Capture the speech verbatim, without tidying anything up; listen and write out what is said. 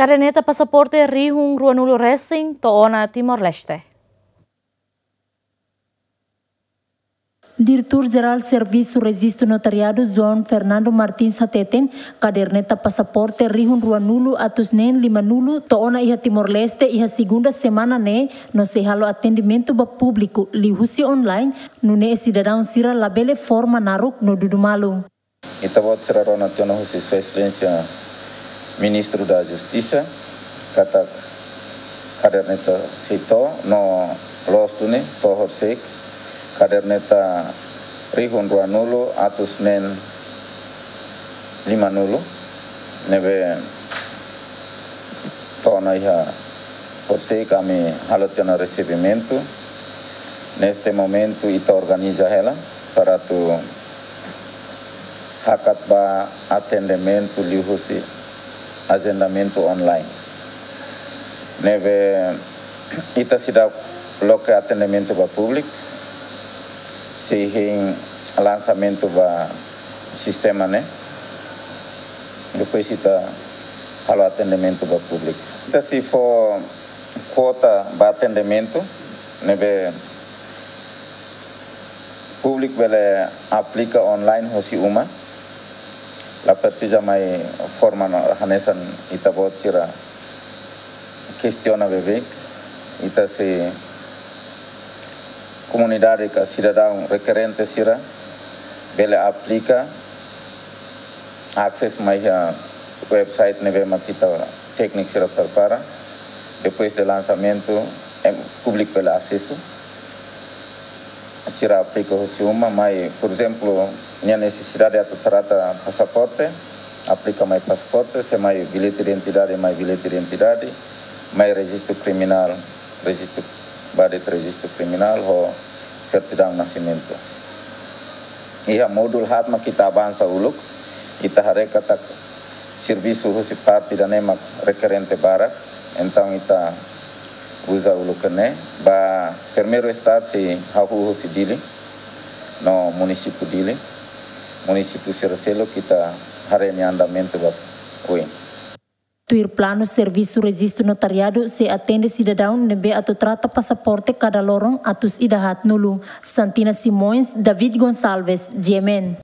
Kaderneta pasaporte rihun ruanulu resin to'o ona Timor-Leste. Diretór Jerál Servisu Rejistu Notariadu, João Fernando Martins, hateten, kaderneta pasaporte rihun ruanulu atus neen limanulu to'o ona iha Timor-Leste iha segunda semana ne'e, no sei halo atendimentu ba públiku liuhusi online, nune'e sidadaun sira labele forma naruk no dudu malu. Ita-boot sira rona tiha ona husi Sua Exelénsia Ministru da Justisa, katak kaderneta sei to'o, no loos duni to'o horisehik, kaderneta rihun ruanulu atus neen limanulu, ne'ebé to'o ona iha horisehik, ami halo tiha ona resebimentu. Neste momentu ita organiza hela para atu hakat ba atendimentu liuhusi agendamentu online. Ne'ebé ita seidauk loke atendimentu ba públiku, sei hein lansamentu ba sistema ne'e. Depois ita halo atendimentu ba públiku. Ita sei fó kuota ba atendimentu, ne'ebé públiku bele aplika online hosi uma. La presiza mai forma no hanesan ita-boot sira kestiona beibeik. Ita sei komunidade ka sidadaun rekerente sira bele aplika, akses mai iha website ne'ebé mak ita tékniku sira prepara. Depois de lansamentu, em, públiku bele asesu. Sira aplika hosi uma, mai, por ezemplu, nia nesesidade atu trata pasaporte, aplika mai pasaporte, se mai bilhete de identidade, mai bilhete de identidade, mai rejistu kriminál, rejistu, badet rejistu kriminál, ho sertidaun nasimentu. Iha módulu haat mak ita avansa uluk, ita haree katak servisu husi parte ida-ne'e mak rekerente barak, entaun ita uza uluk ne'e, ba primeiru start sei hahú husi Dili, no munisípiu Dili, munisípiu sira seluk ita haree nia andamentu ba oin. Tuir planu, servisu rejistu notariadu sei atende sidadaun ne'ebé atu trata pasaporte kada loron atus ida haatnulu. Santina Simões, David Gonçalves, G M N.